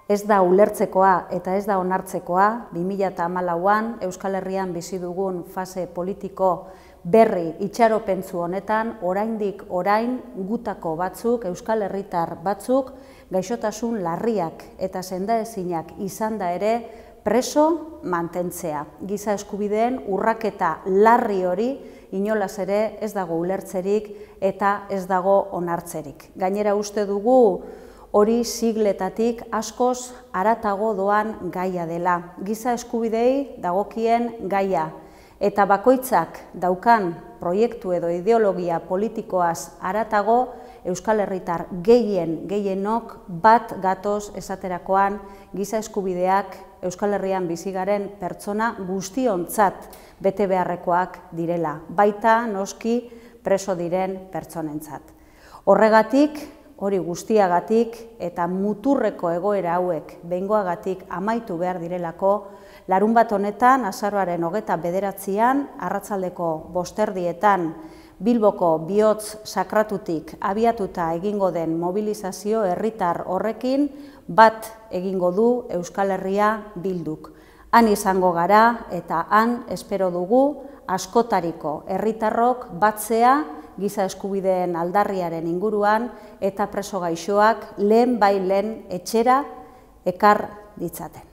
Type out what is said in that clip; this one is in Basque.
Ez da ulertzekoa eta ez da onartzekoa 2014an Euskal Herrian bizi dugun fase politiko berri itxaropentsu honetan oraindik orain gutako batzuk, Euskal Herritar batzuk, gaixotasun larriak eta sendaezinak izanda ere preso mantentzea. Giza eskubideen urraketa larri hori inolaz ere ez dago ulertzerik eta ez dago onartzerik. Gainera uste dugu hori sigletatik askoz haratago doan gaia dela. Giza eskubidei dagokien gaia eta bakoitzak daukan proiektu edo ideologia politikoaz haratago Euskal Herritar gehienok bat gatoz esaterakoan giza eskubideak Euskal Herrian bizi garen pertsona guztiontzat bete beharrekoak direla, baita noski preso diren pertsonentzat. Horregatik, hori guztiagatik eta muturreko egoera hauek behingoagatik amaitu behar direlako, larunbat honetan, azaroaren 29an, arratsaldeko 5:00 Bilboko bihotz sakratutik abiatuta egingo den mobilizazio herritar horrekin bat egingo du Euskal Herria Bilduk. Han izango gara eta han espero dugu askotariko herritarrok batzea giza eskubideen aldarriaren inguruan eta preso gaixoak lehen etxera ekar ditzaten.